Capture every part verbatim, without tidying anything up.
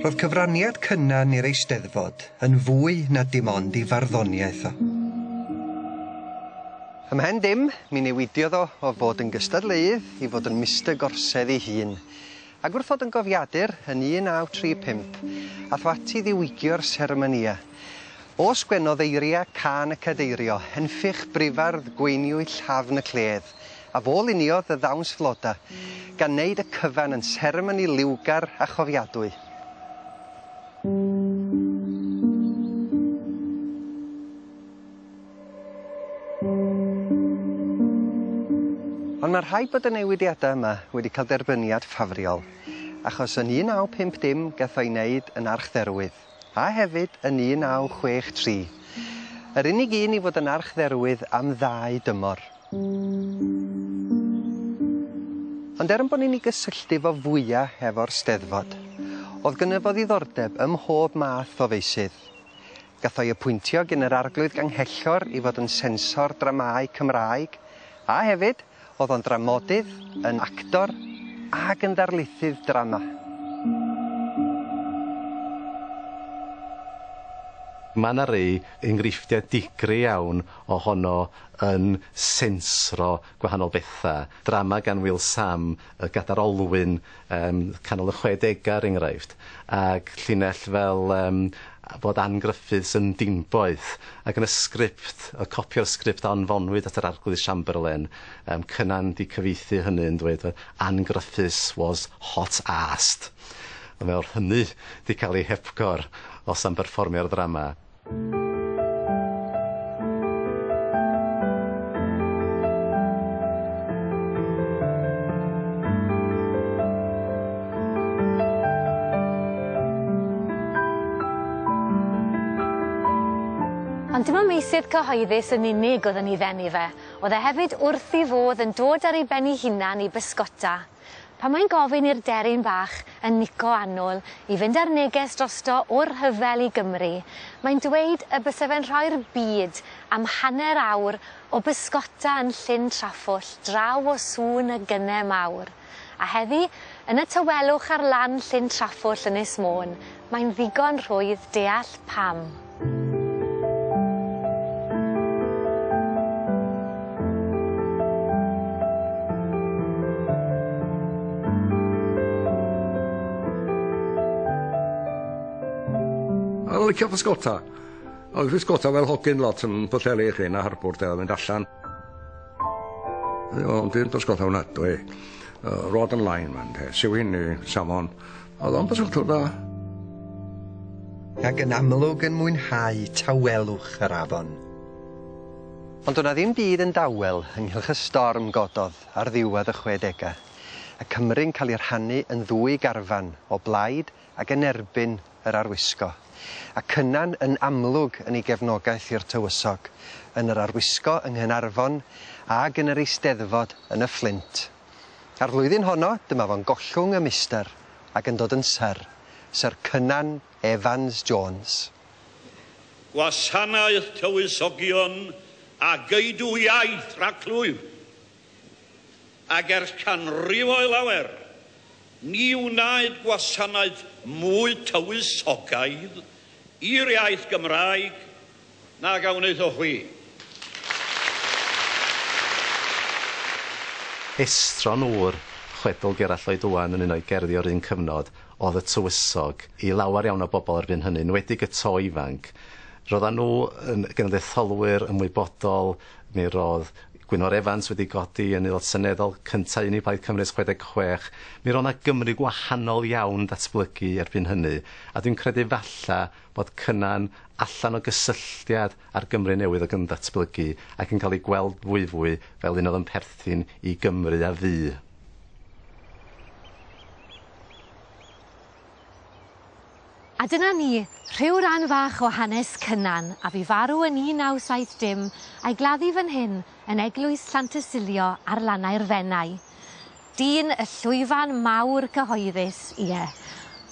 Roedd cyfraniad Cynan i'r Eisteddfod yn fwy na dim ond i farddoniaeth o. Ymhen dim, mi newidiodd o o fod yn gystadleuydd i fod yn Mister Gorsedd ei hun. Ac wrth fod yn gofiadur yn un naw tri pump, ath o ati ddiwygio'r seremonia. O sgwennodd eiria cân y cadeirio, henffych brifardd gweiniwyd llafn y cledd, a fo luniodd y ddawns floda, gan wneud y cyfan yn seremoni liwgar a chofiadwy. Ond mae rhaid bod y newidiadau yma wedi cael derbyniad ffafriol, achos yn un naw pump dim gath o'i wneud yn archdderwydd, a hefyd yn un naw chwech tri. Yr unig un i fod yn archdderwydd am ddau dymor. Ond er yn bod ni'n ei gysylltu fo fwyaf efo'r Steddfod, oedd gynno fo ddiddordeb ym mhob math o feysydd. Gath o'i apwyntio gan yr Arglwydd Ganghellor i fod yn sensor dramâu Cymraeg, a hefyd oedd o'n dramodydd, yn actor ac yn ddarlithydd drama. Mae yna rei enghreifftiau digri iawn ohono yn sensro gwahanol bethau. Drama gan Wil Sam, y Gadar Olwyn, um, canol y chwedegau er enghraifft, ac llinell fel um, bod Ann Griffiths yn dinboeth, ac yn y sgript, y copio'r sgript a anfonwyd at yr Arglwydd Chamberlain, um, Cynan di cyfieithu hynny yn dweud Ann Griffiths was hot-assed. A mae o'r hynny di cael ei hepgor os am berfformio'r ddrama. Ond dim ond meysydd cyhoeddus yn unig oedd yn ei ddenu fe. Oedd e hefyd wrth ei fodd yn dod ar ei ben ei hunan i bysgota. Pan mae'n gofyn i'r deryn bach yn Nico Annwl i fynd ar neges drosto o'r rhyfel i Gymru, mae'n dweud y byse fe'n rhoi'r byd am hanner awr o bysgota yn Llyn Traffwll draw o sŵn y gynne mawr. A heddi, yn y tawelwch ar lan Llyn Traffwll yn Ynys Môn, mae'n ddigon rhwydd deall pam. O'n licio pysgota. Oedd pysgota fel hogyn lot yn Pwllheli i chi, na harbwr de, mynd allan. Ond dwi'n pysgota hwnna, dwi. Rod and line, man, de. Sewin, salmon. Oedd o'n pysgota da. Ac yn amlwg yn mwynhau tawelwch yr afon. Ond do'dd 'na ddim byd yn dawel ynghylch y storm gododd ar ddiwedd y chwedegau. Y Cymru'n cael ei rhannu yn ddwy garfan o blaid ac yn erbyn yr arwisgo. A Cynan yn amlwg yn ei gefnogaeth i'r tywysog, yn yr arwisgo yng Nghaernarfon ac yn yr Eisteddfod yn y Fflint. A'r flwyddyn honno, dyma fo'n gollwng y mister ac yn dod yn syr, Syr Cynan Evans Jones. Gwasanaeth tywysogion a geidw iaith rhagclwyf. Ac ers canrifoedd lawer, ni wnaed gwasanaeth mwy tywysogaidd i'r iaith Gymraeg nag a wnaethoch chwi. Estron ŵr chwedl Gerallt Lloyd Owen yn un o'i gerddi o'r un cyfnod oedd y tywysog i lawer iawn o bobl erbyn hynny, enwedig y to ifanc. Roedden nhw yn genedlaetholwyr ymwybodol, mi roedd Gwynfor Evans wedi godi yn aelod seneddol cyntaf un i Plaid Cymru ers chwedeg chwech. Mi roedd 'na Gymru gwahanol iawn datblygu erbyn hynny, a dwi'n credu falla bod Cynan allan o gysylltiad â'r Gymru newydd oedd yn datblygu ac yn cael ei gweld fwyfwy fel un oedd yn perthyn i Gymru a fu. A dyna ni, rhyw ran fach o hanes Cynan, a fi farw yn un naw saith dim, a'i gladdu fan hyn yn eglwys Llantysilio ar lannau'r Fenai. Dyn y llwyfan mawr cyhoeddus, ie,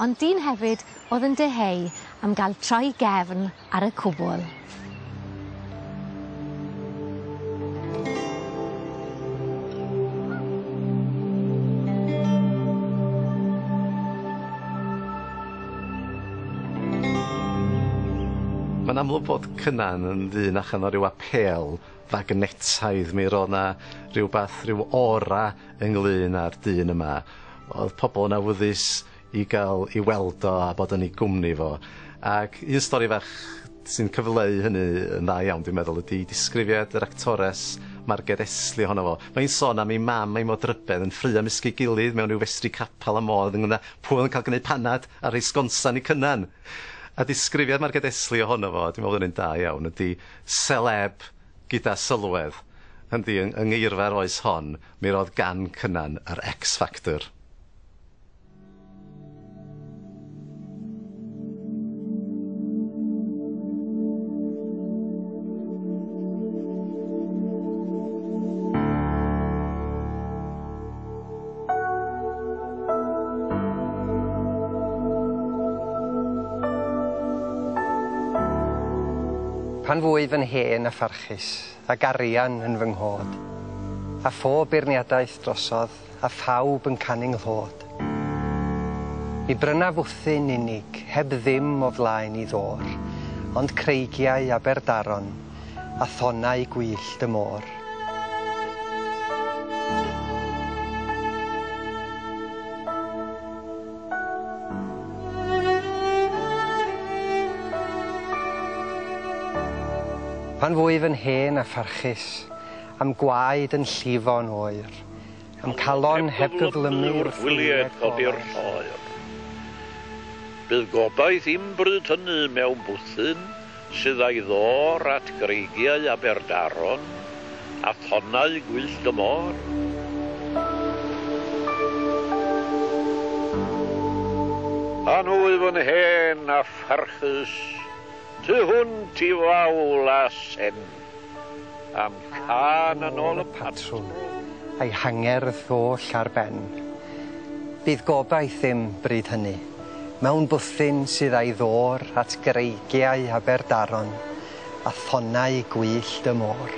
ond dyn hefyd oedd yn dyheu am gael troi gefn ar y cwbl. Mae'n amlwg bod Cynan yn ddyn allan o ryw apêl fagnetaidd. Mi roedd 'na rhywbeth, rhyw aura ynglyn â'r dyn yma. Oedd pobl yn awyddus i gael i weld o a bod yn ei gwmni fo. Ac un stori fach sy'n cyfleu hynny yn dda iawn, dwi'n meddwl, ydy disgrifiad yr actores Marged Esli ohono fo. Mae'n sôn am ei mam a'i modrybedd yn ffraeo ymysg ei gilydd mewn rhyw festri capel am modd ynglyn â pwy oedd yn cael gwneud panad a rhoi sgonsan i Cynan. A disgrifiad Marged Esli ohono fo, dwi'n meddwl bod yn un da iawn, ydy celeb gyda sylwedd. Yndi, yng, yng ngeirfa'r oes hon, mi roedd gan Cynan yr X Factor. Pan fwyf yn hen a pharchus, ac arian yn fy nghod, a phob beirniadaeth drosodd, a phawb yn canu nghlod. Mi brynaf wthyn unig, heb ddim o flaen i ddôr, ond creigiau Aberdaron, a thonnau gwyllt y môr. Pan fwyf yn hen a pharchus, am gwaed yn llifo'n oer, am calon heb gyflymu wrth wylied codi'r lloer. Bydd gobaith i'm bryd hynny mewn bwthyn sydd â'i ddôr at greigiau Aberdaron a thonnau gwyllt y môr. Pan wyf yn hen a pharchus, tu hwnt i fawl a sen, am cân yn ôl y patrwm, a'i hangerdd oll ar ben. Bydd gobaith ddim bryd hynny, mewn bwthyn sydd â'i ddôr at greigiau Aberdaron, a thonnau gwyllt y môr.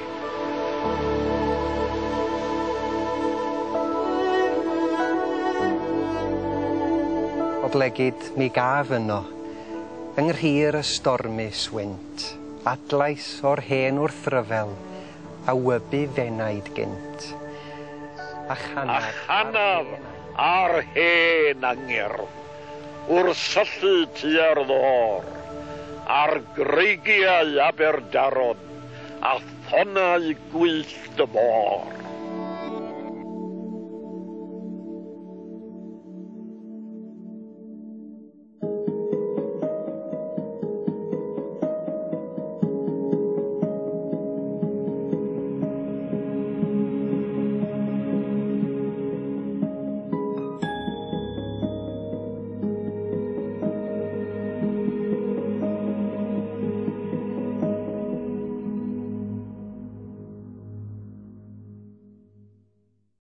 Oblegid mi gaf yno, yng nghrir y stormus wynt, adlais o'r hen wrthryfel, a wybu fenaid gynt. A chanaf, a chanaf ar hen angerdd, wrth syllu tua'r ddôr, ar greigiau Aberdaron, a thonnau gwyllt y môr.